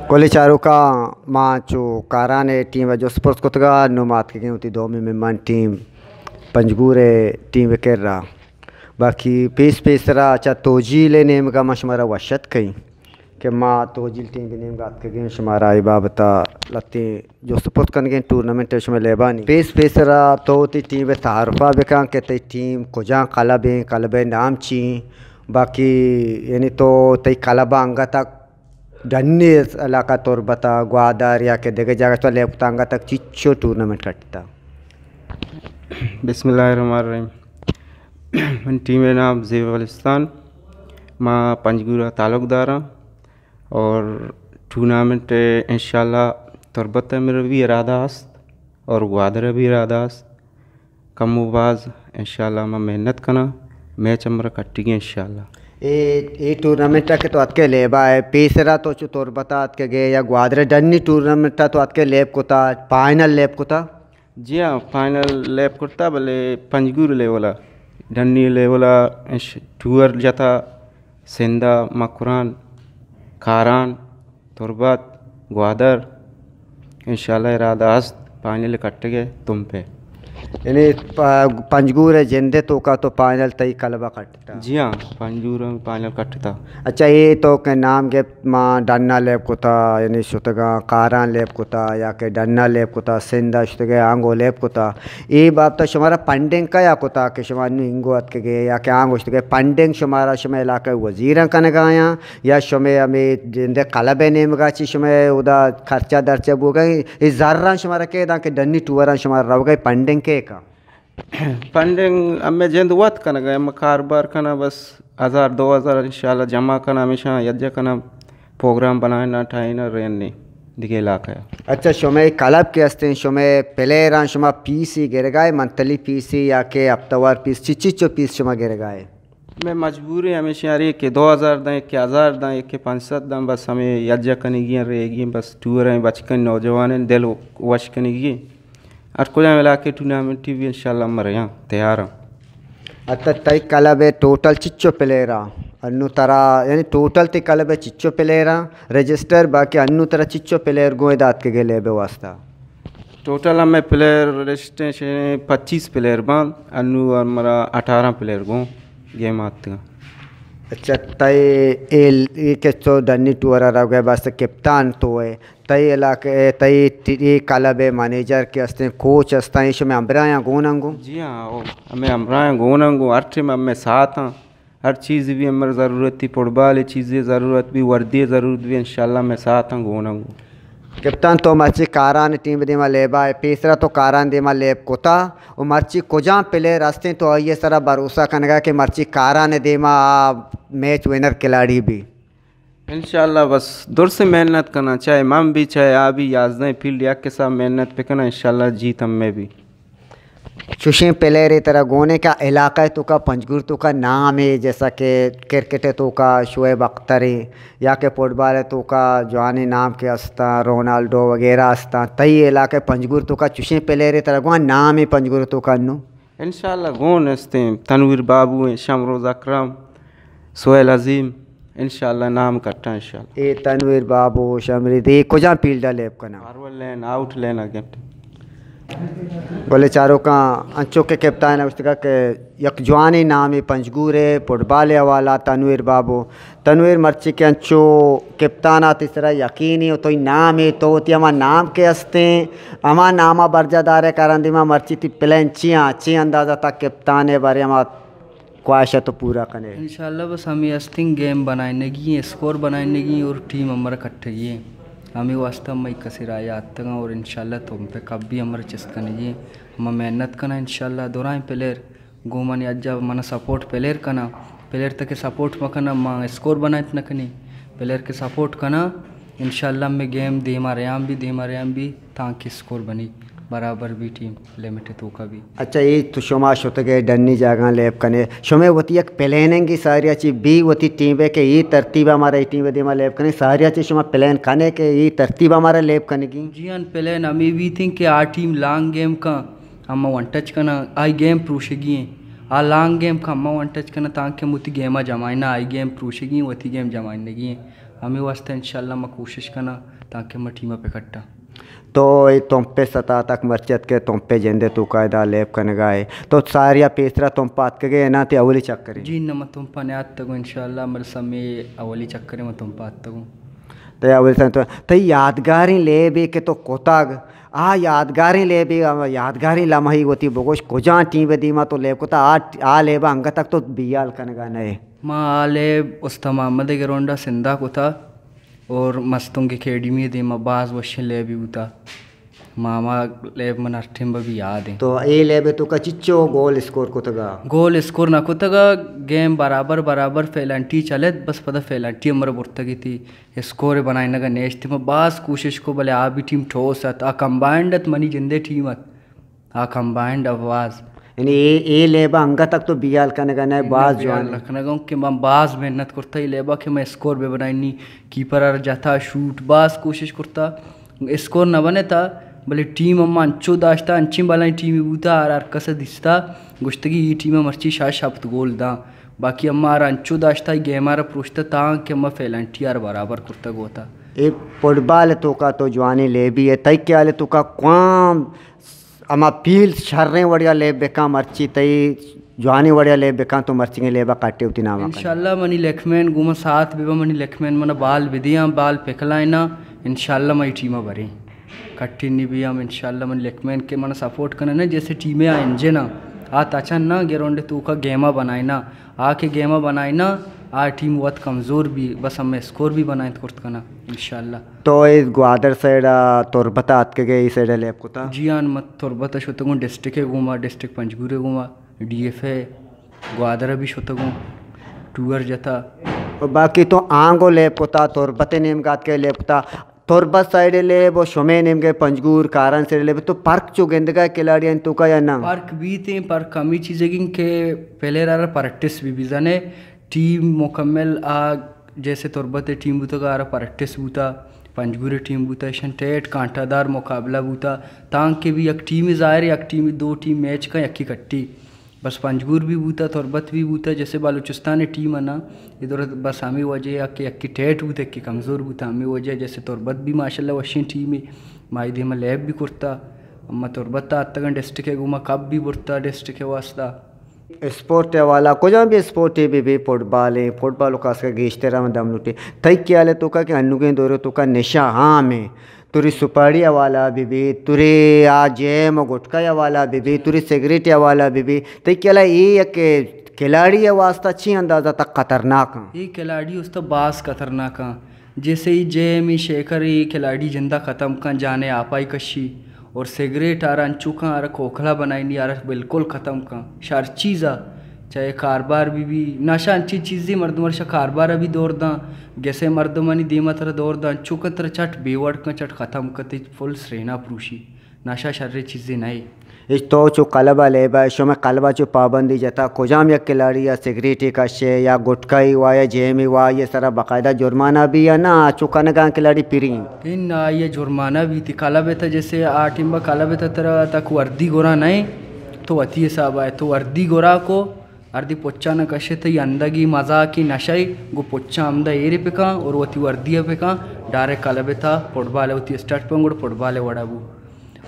کل چاروکاں، ما چو کاران ءِ ٹیم ءَ جست پرس کتگ ءَ، نوں ما اتکگیں وتی دومی مہمان ٹیم پنجگور ءِ ٹیم ءِ کرا۔ باقی پیس پیسرا چہ توجیل ءِ نیمگا ما شمارا وش اتک کئیں کہ ما توجیل ٹیم ءِ نیمگا اتکگیں، شمارا اے بابت ءَ لہتیں جست پرس کنگیں ٹورنامنٹ ءِ شمئے لیبانی۔ پیس پیسرا تو وتی ٹیم ءِ تعارف ءَ بکن کہ تئی ٹیم کجام کلب ایں، کلب ءِ نام چی ایں، باقی یعنی تو تئی کلب ءَ انگت ءَ ڈنی علاقہ تربت ءَ گوادر یا کہ دگہ جاگہ تو لیب کتا انگت ءَ چچو ٹورنامنٹ کٹتا؟ بسم اللہ الرحمن الرحیم۔ من ٹیم ءِ نام زیب بلوچستان، ما پنجگور ءَ تعلق داراں اور ٹورنامنٹ انشاءاللہ تربت ءَ میرا بھی ارادہ است اور گوادر ءَ بھی ارادہ است۔ کم و باز انشاءاللہ ما محنت کناں، میچ ہمرا کٹگی انشاءاللہ۔ اے، اے ٹورنامنٹ ءَ کہ تو اتکے لیبا ئے، پیسرا تو چو تربت ءَ اتکگے یا گوادر ءَ ڈنی ٹورنامنٹ ءَ تو اتکے لیب کتا، فائنل لیب کتا؟ جی ہاں، فائنل لیب کرتا، بلے پنجگور لیول ءَ، ڈنی لیول ءَ اش-، ٹور جتا، سندھ ءَ مکران، کاران، تربت، گوادر، انشاءاللہ ارادہ است فائنل کٹگ ءِ تمپ ءَ۔ یعنی پ-، پنجگور ءِ جند ءِ توکا تو فائنل تئی کلب ءَ کٹتا؟ جی ہاں، پنجگور ءَ فائنل کٹتا۔ اچھا، اے تو کہ نام گپت ما ڈن ءَ لیب کتا، یعنی شتگاں کاران لیب کتا یا کہ ڈن ءَ لیب کتا، سندھ ءَ شتگے آنگو لیب کتا، اے بابت ءَ شمارا فنڈنگ کیا کتا کہ شما نوں انگو اتکگے یا کہ آنگو شتگے؟ فنڈنگ شمارا شمئے علاقہ ءِ وزیراں کنگایاں یا شمئے ہمے جند ءِ کلب ءِ نیمگا چی شمئے اودا خرچہ درچہ بوگا ایں؟ اے زراں شمارا کئے داں کہ ڈنی ٹوراں شمارا روگا ایں؟ فنڈنگ کئے کاں؟ فنڈنگ ہمے جند وت کنگا ایں، ہمے کاروبار کناں، بس ہزار دو ہزار انشاءاللہ جمع کناں، ہمیشاں یکجا کناں، پروگرام بنائیناں، ٹھائیناں، رئینیں دگہ علاقہ ءَ۔ اچھا، شمئے کلب کہ استیں، شمئے پلیئراں شما پیسے گرگائے، منتھلی پیسے یا کہ ہفتہ وار پیس، چچچو پیس شما گرگائے؟ مئے مجبوری ہمیش ایں، ہر یکے دو ہزار داں، یکے ہزار داں، یکے پنچ سد داں، بس ہمے یکجا کنگی ایں، ریگی ایں، بس ٹور ایں، بچکیں نوجوانیں دل وش کنگی ایں۔ ہر کجام علاقے ٹورنامنٹی بھی انشاءاللہ ہم رہاں، تیاراں۔ اچھا، تئی کلب ءِ ٹوٹل چچو پلیئر آں؟ انو ترا، یعنی ٹوٹل تئی کلب ءِ چچو پلیئر آں رجسٹر، باقی انو ترا چچو پلیئر گوں ادا اتکگے لیب ءِ واسطہ؟ ٹوٹل ہمے پلیئر رجسٹر شے پچیس پلیئر باں، انو ہمرا اٹھارہ پلیئر گوں گیم آتگاں۔ اچھا، تئی اے، اے کہ تو ڈنی ٹور ءَ روگ ءِ بس کپتان تو ئے، تئی علاقہ ءِ، تئی ٹی-، اے کلب ءِ منیجر کہ استیں، کوچ استاں، اے شمئے ہمراہاں گون انگو؟ جی ہاں، او ہمے ہمراہاں گون انگو، ہر ٹائم ہمے ساتھ آں۔ ہر چیز بھی ہمر ضرورت تھی، فٹبال ءِ چیزے ضرورت بھی، وردی ءِ ضرورت بھی، انشاءاللہ ہمے ساتھ آں گون انگو۔ کپتان، تو مرچی کاران ٹیم دیما لیبا ئے، پیسرا تو کاران دیما لیب کتا و مرچی کجام پلیئر استیں تو آئی ءِ سرا بھروسہ کنگا کہ مرچی کاران دیما آ میچ ونر کھلاڑی بی؟ انشاءاللہ بس درست محنت کناں، چاہے من بھی، چاہے آ بھی، یازدہیں فیلڈ یک حساب محنت بکناں، انشاءاللہ جیت ہمے بھی۔ چوشیں پلیئرے ترا گون ایں کہ علاقہ ءِ توکا، پنجگور ءِ توکا نام ایں، جیسا کہ کرکٹ ءِ توکا شعیب اختر ایں یا کہ فٹبال ءِ توکا جوانیں نام کہ استاں، رونالڈو وغیرہ استاں، تئی علاقہ ءِ پنجگور ءِ توکا چوشیں پلیئرے ترا گون نام ایں پنجگور ءِ توکا انو؟ انشاءاللہ گون استیں، تنویر بابو ایں، شمروز اکرم، سہیل عظیم، انشاءاللہ نام کٹاں انشاءاللہ۔ اے تنویر بابو، شمروز، اے کجام فیلڈ ءَ لیب کناں؟ فارورڈ لین، آؤٹ لین ءَ گپت۔ بلے چاروکاں، انچو کہ کپتان ءَ گوشتگا کہ یک جوانیں نامے پنجگور ءِ فٹبال ءِ حوالہ ءَ تنویر بابو، تنویر، مرچی کہ انچو کپتان ءَ تئی سرا یقین ایں و تئی نام ایں، تو وتی ہما نام کہ استیں، ہما نام ءَ برجاہ دار ئے، کاران دیما مرچی تئی پلان چی آں، چی اندازہ تا کپتان ءِ بارے ہما خواہش ءَ تو پورا کن ئے؟ انشاءاللہ بس ہمے استیں، گیم بنائینگی ایں، اسکور بنائینگی ایں اور ٹیم ہمرا کٹگی ایں۔ ہمے واسطہ مئی کسے راہ ءَ آتگاں اور انشاءاللہ تو پہ کپ بھی ہمرا چست کنگی ایں۔ ہما محنت کناں انشاءاللہ، درائیں پلیئر گوں منی اجا من سپورٹ پلیئر کناں، پلیئر تکہ سپورٹ مکناں، ما اسکور بنائینت نکنیں۔ پلیئر کہ سپورٹ کناں، انشاءاللہ ہمے گیم دیما ریان بی، دیما ریان بی، تانکہ اسکور بنی، برابر بی، ٹیم لمٹ توکا بی۔ اچھا، اے تو شما شتگے ڈنی جاگہاں لیب کنے، شمے وتی یک پلاننگ ساریا چی بی وتی ٹیم ءِ کہ اے ترتیب ءَ مارا اے ٹیم ءِ دیما لیب کنے، ساریا چی شما پلان کنے کہ اے ترتیب ءَ مارا لیب کنگی؟ جی ہاں، پلان ہمے بیتیں کہ آ ٹیم لانگ گیم کن، اما ون ٹچ کناں، آئی گیم پروشگی ایں۔ آ لانگ گیم کن، اما ون ٹچ کناں، تانکہ وتی گیم ءَ جمائیناں، آئی گیم پروشگی ایں، وتی گیم جمائینگی ایں۔ ہمے واسطہ انشاءاللہ ما کوشش کناں تانکہ ما ٹیم ءَ پہ کٹاں۔ تو اے تمپ ءِ ستا تک مرچی اتکے، تمپ ءِ جند ءِ توکا ادا لیب کنگا ئے۔ تو ساریا پیسرا تمپ ءَ اتکگے یا نا، تئی اولی چکرے؟ جی نہ، ما تمپ ءَ نیاتکگوں، انشاءاللہ مرسا مئے اولی چکرے ما تمپ ءَ اتکگوں۔ تئی اولی سن تو، تئی یادگاریں لیبے کہ تو کتگ، آ یادگاریں لیبے، آ یادگاریں لمحے وتی بگوش، کجام ٹیم ءِ دیما تو لیب کتا، آ، آ لیب ءَ انگت تک تو بیال کنگا نئے؟ ما آ لیب استاد محمد ءِ گراؤنڈ ءَ سندھ ءَ کتا اور مستونگ اکیڈمی ءِ دیما باز وشیں لیبے بوتا۔ ما ہما لیب من ہر ٹیم بھی یاد ایں۔ تو اے لیب ءِ توکا چچو گول اسکور کتگا؟ گول اسکور نہ کتگا، گیم برابر برابر پینلٹی چلت، بس پدا پینلٹی ہمرا برتگی تھی، اسکور بنائینگا نیشت۔ ما باز کوشش کو، بلے آ بھی ٹیم ٹھوس ات، آ کمبائنڈ ات، منی جندے ٹیم ات۔ آ کمبائنڈ آواز۔ یعنی اے، اے لیب ءَ انگت تک تو بیال کنگا نہ، باز جوان۔ بیال نہ کنگا اوں کہ من باز محنت کرتا اے لیب ءَ کہ من اسکور بہ بنائینی، کیپر ءَ را جتا شوٹ، باز کوشش کرتا اسکور نہ بنتا، بلے ٹیم ہم انچو داشتا، انچیں بلائیں ٹیمے بوتا، ہر، ہر کس ءَ دیستا، گوشتگی اے ٹیم ءَ مرچی شش ہپت گول داں، باقی ہما ہر انچو داشتا، اے گیم ءَ را پروشتا تاں کہ ہما پینلٹی ءَ را برابر کرتا گوتا۔ اے فٹبال ءِ توکا تو جوانیں لیبی ئے، تئی خیال ءِ توکا کوام ہما پیلز شریں وڑیا لیب بکاں، مرچی تئی جوانیں وڑیا لیب بکاں، تو مرچیگیں لیب ءَ کٹے وتی نام ءَ کن۔ انشاءاللہ منی لیکمین گوں من ساتھ بہ بہ، منی لیکمین من بال بدیاں، بال پکلائیناں، انشاءاللہ من اے ٹیم ءَ بریں۔ کٹینی بیاں انشاءاللہ، منی لیکمین کہ من سپورٹ کنن، جیسے ٹیم ءِ آ انجن ءَ، آ تچن نہ گراؤنڈ ءِ توکا گیم ءَ بنائیناں، آ کہ گیم ءَ بنائیناں، آ ٹیم وت کمزور بی، بس ہمے اسکور بھی بنائینت کرت کناں انشاءاللہ۔ تو اے گوادر سائیڈ ءَ تربت ءَ اتکگے، اے سائیڈ ءَ لیب کتا؟ جی ہاں، من تربت ءَ شتگوں، ڈسٹرکٹ ءِ گوما، ڈسٹرکٹ پنجگور ءِ گوما، ڈی ایف ءَ گوادر ءَ بھی شتگوں، ٹور جتا۔ و باقی تو آنگو لیب کتا، تربت ءِ نیمگا اتکے لیب کتا، تربت سائیڈ ءِ لیب و شمے نیمگے پنجگور، کاران سائیڈ ءِ لیب، تو پرک چو گندگا کھلاڑیانی توکا یا نہ؟ پرک بیت ایں، پرک ہمے چیزے گیں کہ پلیئر ءَ را پریکٹس بھی بزانے، ٹیم مکمل آ جیسے تربت ءِ ٹیم بوتگ، آ را پریکٹس بوتا، پنجگور ءِ ٹیم بوتا، ایشاں ٹیٹ کانٹا دار مقابلہ بوتا، تانکہ بھی یک ٹیمے ظاہر ہے، یک ٹیمے دو ٹیم میچ کن یکے کٹی۔ بس پنجگور بھی بوتا، تربت بھی بوتا، جیسے بلوچستان ءِ ٹیم ءَ نا، ادھر بس ہمے وجہ ءَ کہ یکے ٹیٹ بوتا، یکے کمزور بوتا، ہمے وجہ ءَ جیسے تربت بھی ماشاءاللہ وشیں ٹیمے، ما اے دیما لیب بھی کرتا، ما تربت ءَ اتگاں ڈسٹرکٹ ءِ گوما کپ بھی برتا ڈسٹرکٹ ءِ واسطہ۔ اسپورٹ ءِ حوالہ، کجام بھی اسپورٹے بہ بی، فٹبال ایں، فٹبال ءَ خاص کر گیشتر ہم دم لوٹی۔ تئی خیال ءِ توکا کہ انوگیں دور ءِ توکا نشہ عام ایں، توری سپاڑی حوالہ بہ بی، توری آ جیم و گٹکا حوالہ بہ بی، توری سگریٹ حوالہ بہ بی، تئی خیال ءَ اے یک کھلاڑی ءِ واسطہ چی اندازہ تک خطرناک ایں؟ اے کھلاڑی ءِ واسطہ باز خطرناک ایں۔ جیسے ای جے ایم ای شیکر ای کھلاڑی جندا ختم کن، جانے آپائی کشی اور سگریٹ آرا انچو کن آرا کھوکھلا بنائینی، آرا بالکل ختم کن۔ شر چیزا چاہے کاربار بہ بی، نشہ انچی چیزی مردم ارشا کاربار بھی دور داں، گسے مردمانی دیما ترا دور داں، انچو کن ترا چٹ بے وڑ کن، چٹ ختم کن، تئی فل سرینا پروشی۔ نشہ شریں چیزے نہ اے۔ اش تو چو کلب ءَ لیب ءَ، شمئے کلب ءَ چو پابندی جتا، کجام یک کھلاڑی ءَ سگریٹے کشے یا گٹکائی وا یا جیمی وا، آئی ءِ سرا باقاعدہ جرمانہ بی یا نہ، چو کنگاں کھلاڑی پری؟ اناں، آئی ءَ جرمانہ بیت۔ کلب ءِ تہ جیسے آ ٹیم ءَ کلب ءِ تہ ترا تک وردی گورا نہ ایں، تو وتی حساب ءَ تو وردی گورا کو، ہردی پچا نہ کشے، تئی اندگی مزاکی نشہ ئے، گوں پچا ہمدا ایرے پکاں اور وتی وردی ءَ پکاں، ڈائریکٹ کلب ءِ تہ فٹبال ءَ وتی اسٹارٹ پکاں، گڑا فٹبال ءِ وڑا بو۔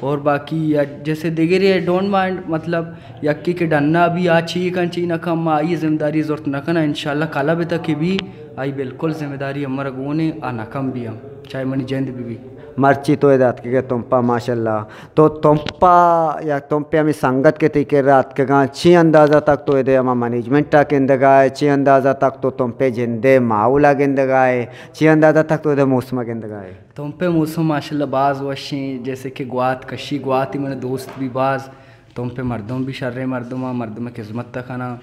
اور باقی یا جیسے دگرے، ڈونٹ مائنڈ، مطلب یکے کہ ڈنا بی آ چی کن چی نہ کن، ما آئی ذمہ داری زرت نہ کناں، انشاءاللہ کلب ءِ تہ کہ بی آئی بالکل ذمہ داری ہمرا گون ایں، آ نہ کن بی ہم، چاہے منی جند بہ بی۔ مرچی تو ادا اتکگے تمپا، ماشاءاللہ تو تمپا یا تمپے ہمے سنگت کہ تئی کرا اتکگاں، چی اندازہ تک تو ادے ہما مینجمنٹ ءَ گندگا ئے، چی اندازہ تک تو تمپے جندے ماحول ءَ گندگا ئے، چی اندازہ تک تو ادے موسم ءَ گندگا ئے؟ تمپے موسم ماشاءاللہ باز وش ایں، جیسے کہ گوات کشی، گواتی من دوست بی باز، تمپے مردم بی شریں مردم آں، مردم خذمت ءَ کناں۔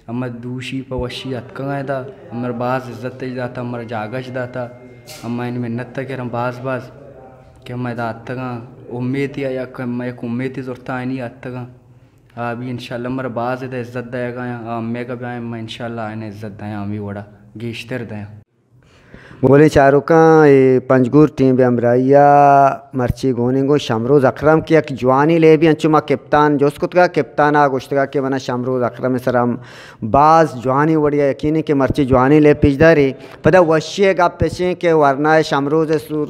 ہما دوشی پہ وشی اتکگاں ادا، ہمرا باز عزت اش داتا، ہمرا جاگہ اش داتا، ہما آیانی منت ءَ کراں باز باز کہ ہما ادا اتکگاں، امیتے آ یک، ہما یک امیتے زرتا آیانی اتکگاں۔ آ بی انشاءاللہ ہمرا باز ادا عزت دئیگا آں، آ ہمیگا بیاں، ہما انشاءاللہ آیانا عزت دیاں، ہمے وڑا گیشتر دیاں۔ گلیں چاروکاں، اے پنجگور ٹیم ءِ ہمراہی ءَ مرچی گونیں گوں شمروز اکرم کہ یک جوانیں لیبے انچو ما کپتان جست کتگ ءَ، کپتان ءَ گوشتگ ءَ کہ من ءَ شمروز اکرم ءِ سرا ہم باز جوانیں وڑے ءَ یقین ایں کہ مرچی جوانیں لیب پیش داری۔ پدا وشی ءِ گپ اش ایں کہ ورنا ءَ شمروز ءِ سور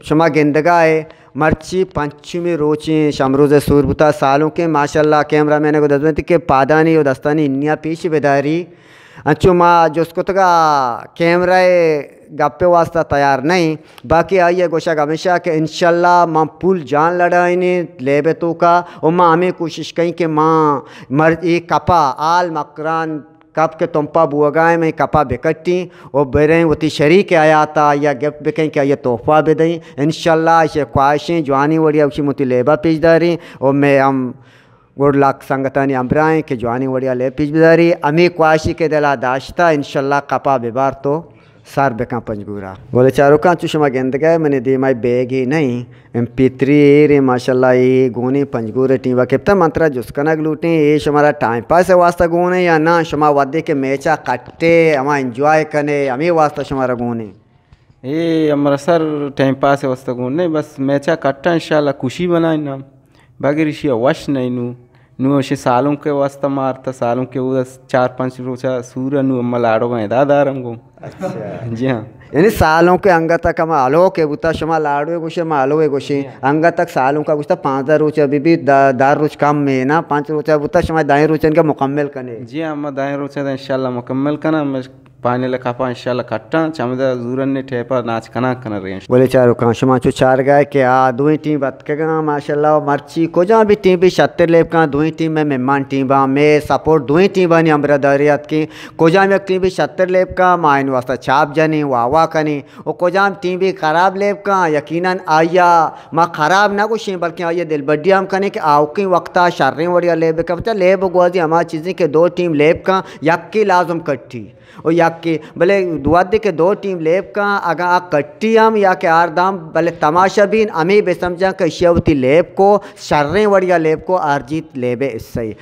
شما گندگ ءَ ئے، مرچی پنچمی روچیں شمروز ءِ سور بوتا۔ سالونکیں ماشاءاللہ کیمرہ مین ءَ گوں دزبندی کہ پادانی و دستانی انیا پیش بداری۔ انچو ما جست کتگ ءَ کیمرہ ءِ گپ ءِ واسطہ تیار نہ ایں، باقی آئی ءِ گوشگ ہمیش ایں کہ انشاءاللہ ما پول جان لڑائینیں لیب ءِ توکا و ما ہمے کوشش کئیں کہ ما مر-، اے کپ ءَ آل مکران کپ کہ تمپ ءَ بوگ ءَ ایں، مئے کپ ءَ بکٹیں و بریں وتی شریک حیات ءَ آئی ءَ گفٹ بکئیں کہ آئی ءَ تحفہ بدئیں۔ انشاءاللہ ایشی خواہشیں جوانیں وڑے ءَ گوشی وتی لیب ءَ پیش داریں و مئے ہم گڈ لک سنگتانی ہمراہ ایں کہ جوانیں وڑے ءَ لیب پیش بداری۔ ہمے خواہشی کہ دل ءَ داشتہ، انشاءاللہ کپ ءَ ببار تو سر بکن پنجگور ءَ۔ گل چاروکاں، چو شما گندگ ءَ ئے منی دیم ءَ بیگے نہ ایں، ایم پی تھری ایر ایں، ماشاءاللہ اے گون ایں پنجگور ءِ ٹیم ءَ کپتہ۔ من ترا جست کنگ لوٹیں، اے شمارا ٹائم پاس ءِ واسطہ گون ایں یا نہ؟ شما وھدے کہ میچ ءَ کٹ ئے، ہما انجوائے کن ئے، ہمے واسطہ شمارا گون ایں؟ اے ہمرا سر ٹائم پاس ءِ واسطہ گون نہ ایں، بس میچ ءَ کٹاں، انشاءاللہ خوشی بنائیں نام۔ بغیر ایشی ءَ وش نہ ایں نوں۔ نوں ایشی سالونک ءِ واسطہ مارتہ، سالونک ءِ اودا چار پنچ روچ ءَ سور ءَ، نوں ہما لاڑوگاں ادا دارم گوں۔ اچھا۔ جی ہاں۔ یعنی سالونک ءِ انگت تک ہما ہلو کہ بوتا، شما لاڑو ءَ گوشے، ما ہلو ءَ گوشیں۔ جی ہاں۔ انگت تک سالونک ءَ گوشتا پانزدہ روچ ءَ بہ بی، دہ، دہ روچ کم ایں نا، پنچ روچ ءَ بوتا، شما دہیں روچ ءَ مکمل کنے۔ جی ہاں، ما دہیں روچ ءَ انشاءاللہ مکمل کناں۔ فائنل ءِ کپ ءَ انشاءاللہ کٹاں، چمدا زورن ءِ ٹیپ ءَ ناچ کناں کناں رینش۔ گلیں چاروکاں، شما چو چارگ ءَ ئے کہ آ دوئیں ٹیم اتکگاں ماشاءاللہ، و مرچی کجام بھی ٹیم بھی شتر لیب کن، دوئیں ٹیم مئے مہمان ٹیم باں، مئے سپورٹ دوئیں ٹیمانی ہمراہ داری اتکیں۔ کجام یک ٹیم بھی شتر لیب کن، ما آئی ءِ واسطہ چاپ جنیں، واہ واہ کنیں، و کجام ٹیم بھی خراب لیب کن، یقیناً آئی ءَ ما خراب نہ گوشیں، بلکیں آئی ءَ دلبڈی ہم کنیں کہ آؤکیں وقت ءَ شریں وڑے ءَ لیب بکن۔ پچا لیب گوازی ہما چیزیں کہ دو ٹیم لیب کن، یکے لازم کٹی۔ و یکے، بلے وھدے کہ دو ٹیم لیب کن، اگاں آ کٹی ہم یا کہ ہار داں، بلے تماشا بین ہمے بہ سمجھاں کہ ایشی ءَ وتی لیب کو، شریں وڑے ءَ لیب کو، ہار جیت لیب ءِ حصہ ایں۔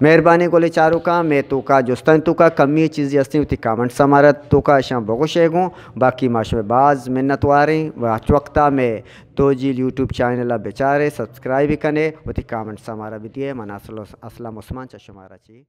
مہربانی گلیں چاروکاں، مئے توکا جستانی توکا کمی چیزے ہستیں، وتی کامنٹس ءَ مارا توکا اشاں بگوشے گوں، باقی ما شمئے باز منت واریں و ہچ وقتا مئے توجیل یوٹیوب چینل ءَ بچارے، سبسکرائب کنے، وتی کامنٹس ءَ مارا بدیے۔ من اسلم، اسلم عثمان چہ شمارا چی